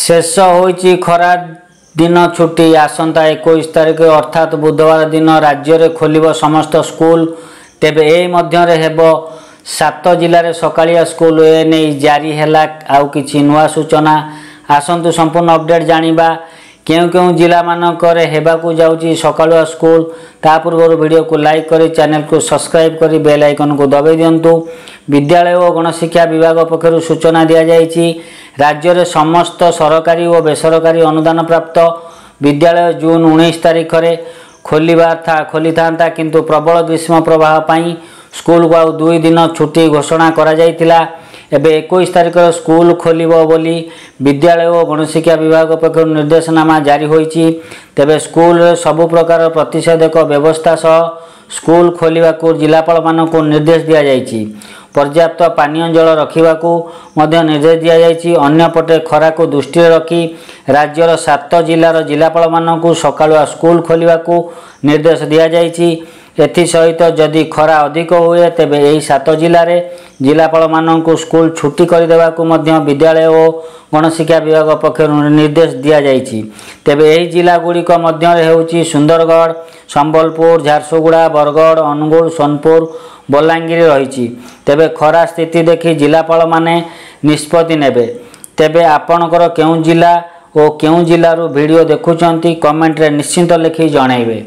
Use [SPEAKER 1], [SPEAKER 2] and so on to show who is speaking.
[SPEAKER 1] ଶେଷ ହୋଇଛି ଖରା ଦିନ ଛୁଟି। ଆସନ୍ତା 21 ତାରିଖ ଅର୍ଥାତ୍ ବୁଧବାର ଦିନ ରାଜ୍ୟରେ ଖୋଲିବ ସମସ୍ତ ସ୍କୁଲ। ତେବେ ଏହି ମଧ୍ୟରେ ହେବ 7 ଜିଲ୍ଲାରେ ସକାଳିଆ ସ୍କୁଲ। ଏ ନେଇ ଜାରି ହେଲା ଆଉ କିଛି ନୂଆ ସୂଚନା। ଆସନ୍ତୁ ସମ୍ପୂର୍ଣ୍ଣ ଅପଡେଟ୍ ଜାଣିବା କେଉଁ କେଉଁ ଜିଲ୍ଲାମାନଙ୍କରେ ହେବାକୁ ଯାଉଛି ସକାଳୁଆ ସ୍କୁଲ। ତା ପୂର୍ବରୁ ଭିଡ଼ିଓକୁ ଲାଇକ୍ କରି ଚ୍ୟାନେଲକୁ ସବସ୍କ୍ରାଇବ୍ କରି ବେଲ୍ ଆଇକନ୍କୁ ଦବାଇ ଦିଅନ୍ତୁ। ବିଦ୍ୟାଳୟ ଓ ଗଣଶିକ୍ଷା ବିଭାଗ ପକ୍ଷରୁ ସୂଚନା ଦିଆଯାଇଛି, ରାଜ୍ୟରେ ସମସ୍ତ ସରକାରୀ ଓ ବେସରକାରୀ ଅନୁଦାନ ପ୍ରାପ୍ତ ବିଦ୍ୟାଳୟ ଜୁନ୍ 19 ତାରିଖରେ ଖୋଲିବା ଖୋଲିଥାନ୍ତା, କିନ୍ତୁ ପ୍ରବଳ ଗ୍ରୀଷ୍ମ ପ୍ରବାହ ପାଇଁ ସ୍କୁଲକୁ ଆଉ 2 ଦିନ ଛୁଟି ଘୋଷଣା କରାଯାଇଥିଲା। ଏବେ 21 ତାରିଖରେ ସ୍କୁଲ ଖୋଲିବ ବୋଲି ବିଦ୍ୟାଳୟ ଓ ଗଣଶିକ୍ଷା ବିଭାଗ ପକ୍ଷରୁ ନିର୍ଦ୍ଦେଶନାମା ଜାରି ହୋଇଛି। ତେବେ ସ୍କୁଲରେ ସବୁ ପ୍ରକାର ପ୍ରତିଷେଧକ ବ୍ୟବସ୍ଥା ସହ ସ୍କୁଲ ଖୋଲିବାକୁ ଜିଲ୍ଲାପାଳମାନଙ୍କୁ ନିର୍ଦ୍ଦେଶ ଦିଆଯାଇଛି। ପର୍ଯ୍ୟାପ୍ତ ପାନୀୟ ଜଳ ରଖିବାକୁ ମଧ୍ୟ ନିର୍ଦ୍ଦେଶ ଦିଆଯାଇଛି। ଅନ୍ୟପଟେ ଖରାକୁ ଦୃଷ୍ଟିରେ ରଖି ରାଜ୍ୟର 7 ଜିଲ୍ଲାର ଜିଲ୍ଲାପାଳମାନଙ୍କୁ ସକାଳୁଆ ସ୍କୁଲ ଖୋଲିବାକୁ ନିର୍ଦ୍ଦେଶ ଦିଆଯାଇଛି। ଏଥିସହିତ ଯଦି ଖରା ଅଧିକ ହୁଏ, ତେବେ ଏହି 7 ଜିଲ୍ଲାରେ ଜିଲ୍ଲାପାଳମାନଙ୍କୁ ସ୍କୁଲ ଛୁଟି କରିଦେବାକୁ ମଧ୍ୟ ବିଦ୍ୟାଳୟ ଓ ଗଣଶିକ୍ଷା ବିଭାଗ ପକ୍ଷରୁ ନିର୍ଦ୍ଦେଶ ଦିଆଯାଇଛି। ତେବେ ଏହି ଜିଲ୍ଲାଗୁଡ଼ିକ ମଧ୍ୟରେ ହେଉଛି ସୁନ୍ଦରଗଡ଼, ସମ୍ବଲପୁର, ଝାରସୁଗୁଡ଼ା, ବରଗଡ଼, ଅନୁଗୁଳ, ସୋନପୁର, ବଲାଙ୍ଗୀର ରହିଛି। ତେବେ ଖରା ସ୍ଥିତି ଦେଖି ଜିଲ୍ଲାପାଳମାନେ ନିଷ୍ପତ୍ତି ନେବେ। ତେବେ ଆପଣଙ୍କର କେଉଁ ଜିଲ୍ଲା ଓ କେଉଁ ଜିଲ୍ଲାରୁ ଭିଡ଼ିଓ ଦେଖୁଛନ୍ତି, କମେଣ୍ଟରେ ନିଶ୍ଚିନ୍ତ ଲେଖି ଜଣାଇବେ।